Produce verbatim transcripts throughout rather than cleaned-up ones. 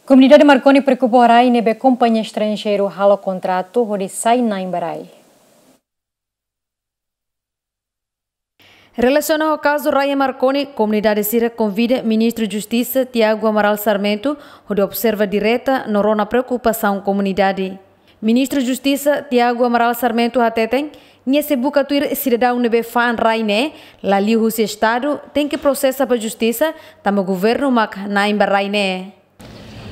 Komunidade Marconi preokupa ho rai ne'ebé kompañia estranjeiru halo kontratu hodi sai na'in ba rai. Relasiona ho kazu rai iha Marconi, komunidade sira konvida Ministru Justisa Tiago Amaral Sarmento hodi observa direta no rona preokupasaun komunidade. Ministru Justisa Tiago Amaral Sarmento hateten, nia sei buka tuir sidadaun ne'ebé fa'an rai ne'e la liuhusi Estadu, tenke prosesa ba justisa, tanba governu mak na'in ba rai ne'e.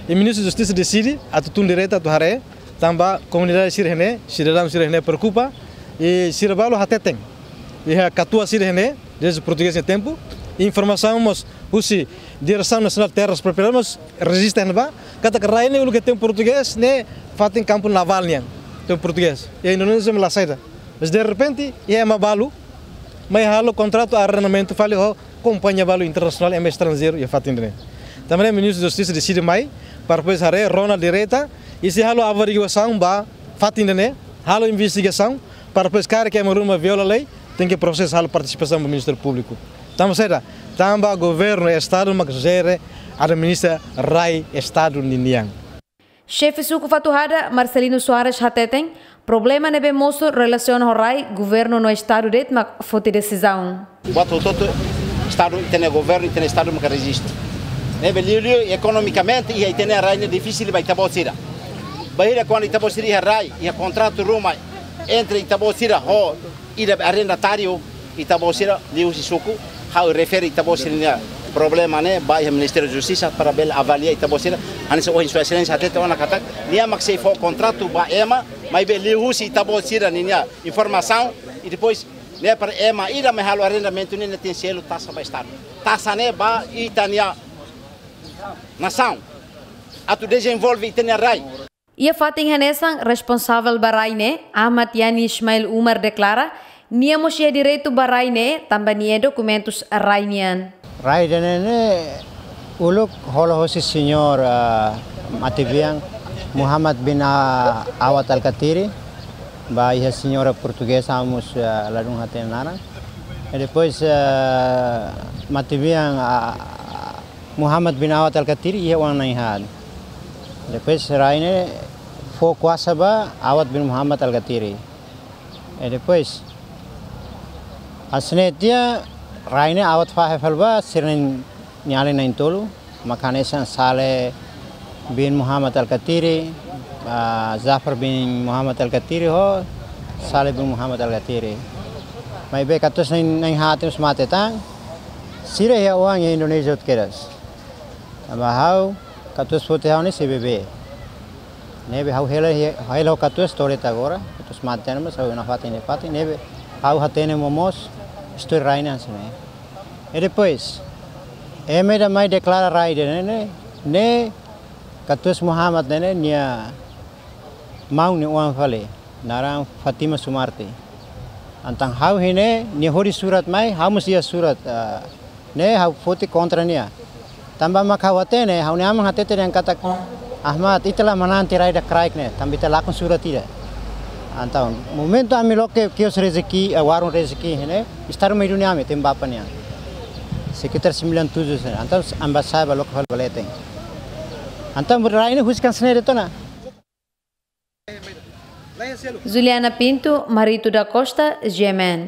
I Ministru Justisa deside atu tun direta atu haree, tanba komunidade sira iha ne'e, sidadaun sira iha ne'e preokupa, i sira balu hateten. Iha katuas sira iha ne'e, dezde portugés nia tempu, informasaun mós husi Diresaun Nasionál Terras Propriedades mós rejista iha ne'ebá, katak rai ne'e uluk iha tempu portugés ne'e fatin kampu navál nian, tempu portugés. I Indonézia mak la saida. Mas derrepente, iha ema balu mai halo kontratu arrendamentu fali ho kompañia balu internasionál, ema estranjeiru iha fatin ne'e. Tanba ne'e Ministru Justisa deside mai, para depois haree, rona direta, i sei halo averiguasaun ba fatin ne'e, halo investigasaun, para depois karik ema ruma viola lei, tenke prosesa, halo partisipasaun ba Ministériu Públiku. Tanba saida, tanba governu, Estadu mak jere, administra rai Estadu ninian. Xefe Suku Fatuhada, Marcelino Soares hateten, problema ne'ebé mosu relasiona ho rai, governu no Estadu de'it mak foti desizaun. Buat hotu-hotu Estadu, ita-nia governu, ita-nia Estadu maka rejista. Ne'ebé liuliu ekonomikamente, iha ita-nia rai ne'e difisil ba ita-boot sira. Bainhira kuandu ita-boot sira iha rai, iha kontratu ruma entre ita-boot sira ho ida arrendatáriu, ita-boot sira liuhusi suku, ha'u refere ita-boot sira-nia problema ne'e ba iha Ministériu Justisa para bele avalia ita-boot sira, hanesan ohin Sua Exelénsia hatete ona katak, nia mak sei fó kontratu ba ema, maibé liuhusi ita-boot sira ninia informasaun, i depois ne'e para ema ida mai halo arrendamentu ne'e, nia tenke selu taxa ba Estadu. Taxa ne'e ba ita-nia nasaun. Atu dezenvolve ita-nia rai. Iha fatin hanesan, responsavel ba rai ne'e, Ahmad Yani Ismail Umar deklara, nia mós iha direitu ba rai ne'e, tanba nia iha dokumentus rai nian. Rai ida-ne'e ne'e uluk hola hosi señór, ah, matebian Muhammad bin, ah, Awad Alkatiri, ba iha señora portugeza, ha'u mós, ah, ladún hatene naran. I depois, ah, matebian, ah, Muhammad bin Awad Alkatiri iha oan na'in haat. Depois rai ne'e fó kuasa ba Awad bin Muhammad Alkatiri. I depois, hanesan ne'e tiha rai ne'e Awad fahe fali ba sira-nia alin na'in-tolu, mak hanesan Saleh bin Muhammad Alkatiri, ah, Jafar bin Muhammad Alkatiri ho Saleh bin Muhammad Alkatiri. Maibé katuas na'in, na'in haat ne'e mós mate tan, sira iha oan iha Indonézia hotu kedas. Tanba ha'u, katuas foti ha'u ne'e sei bebé. Ne'ebé ha'u hela, hela ho katuas to'o agora, katuas mate tan, mas ha'u nafatin, nafatin, ne'ebé ha'u hatene momoos istória rai ne'e hanesan ne'e. I depois, ema ida mai deklara rai ida-ne'e, ne'e, ne'e katuas Muhammad ne'e, ne'e nia maun nia oan fali, naran Fatima Sumarti. Entaun ha'u iha ne'e, nia hodi surat mai, ha'u mós iha surat, ah, ne'e ha'u foti kontra nia. Tanba mak ha'u hatene, ha'u-nia aman hatete dehan katak, Ahmad, ita la manán tiha rai ida kraik ne'e, tanba ita lakon surat ida. Entaun, momentu ami loke kios rezeki, eh, warung rezeki iha ne'e, Estadu mai duni ami, tembapa nian. Sekitar sembilan tujuh sana. Entaun, ami bá sa'e bá loke fali ba leten. Entaun, rai ne'e husik hanesan ne'e de'it ona. Juliana Pinto, Marito da Costa, G M N.